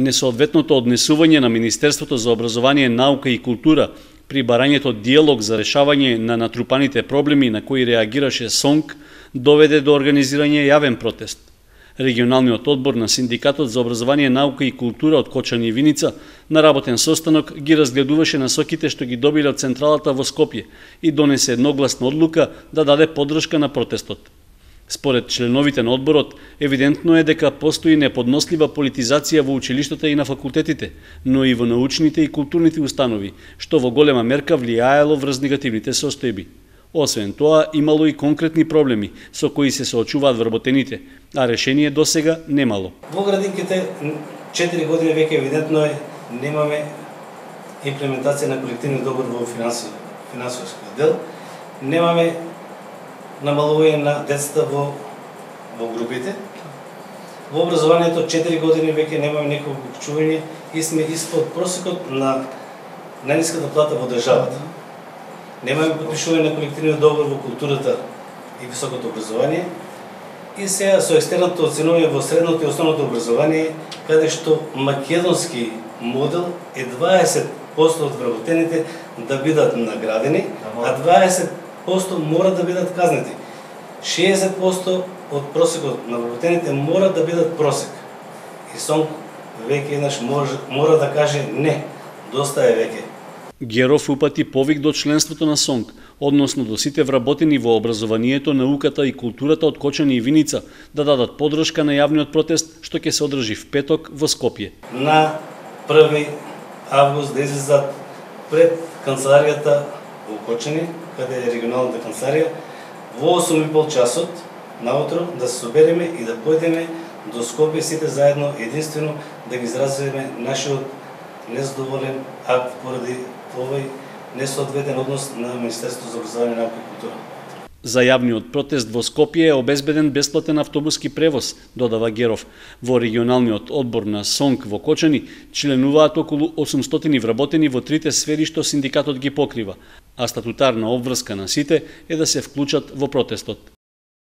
Несоодветното однесување на Министерството за образование, наука и култура при барањето диалог за решавање на натрупаните проблеми на кои реагираше СОНК доведе до организирање јавен протест. Регионалниот одбор на Синдикатот за образование, наука и култура од Кочани и Виница на работен состанок ги разгледуваше насоките што ги добиле од централата во Скопје и донесе едногласна одлука да даде поддршка на протестот. Според членовите на одборот, евидентно е дека постои неподнослива политизација во училиштата и на факултетите, но и во научните и културните установи, што во голема мерка влијаело врз негативните состојби. Освен тоа, имало и конкретни проблеми со кои се соочуваат вработените, а решение досега немало. Во градинките 4 години веќе евидентно е немаме имплементација на колективни договор во финансовиот дел, немаме намалување на децата во групите. Во образованието 4 години веќе немаме некој обучување и сме испод просекот на најниската плата во државата. Немаме подпишување на колективниот договор во културата и високото образование. И сега со екстерното оценување во средното и основното образование, каде што македонски модел е 20% од вработените да бидат наградени, а 20% мора да бидат казнети. 60% од просекот на вработените мора да бидат просек. И СОНК веќе еднаш мора да каже не, доста е веќе. Геров упати повик до членството на СОНК, односно до сите вработени во образованието, науката и културата од Кочани и Виница да дадат поддршка на јавниот протест што ќе се одржи в петок во Скопје. На 1 август да излезат пред канцеларијата во Кочани, каде е регионалната канцеларија, во 8:30 часот наутро да се собереме и да појдеме до Скопје сите заедно единствено да ги изразиме нашиот незадоволен акт поради овој несоодветен однос на Министерството за образование, наука и култура. За јавниот протест во Скопје е обезбеден бесплатен автобуски превоз, додава Геров. Во регионалниот одбор на СОНК во Кочани членуваат околу 800 вработени во трите сфери што синдикатот ги покрива, а статутарна обврска на сите е да се вклучат во протестот.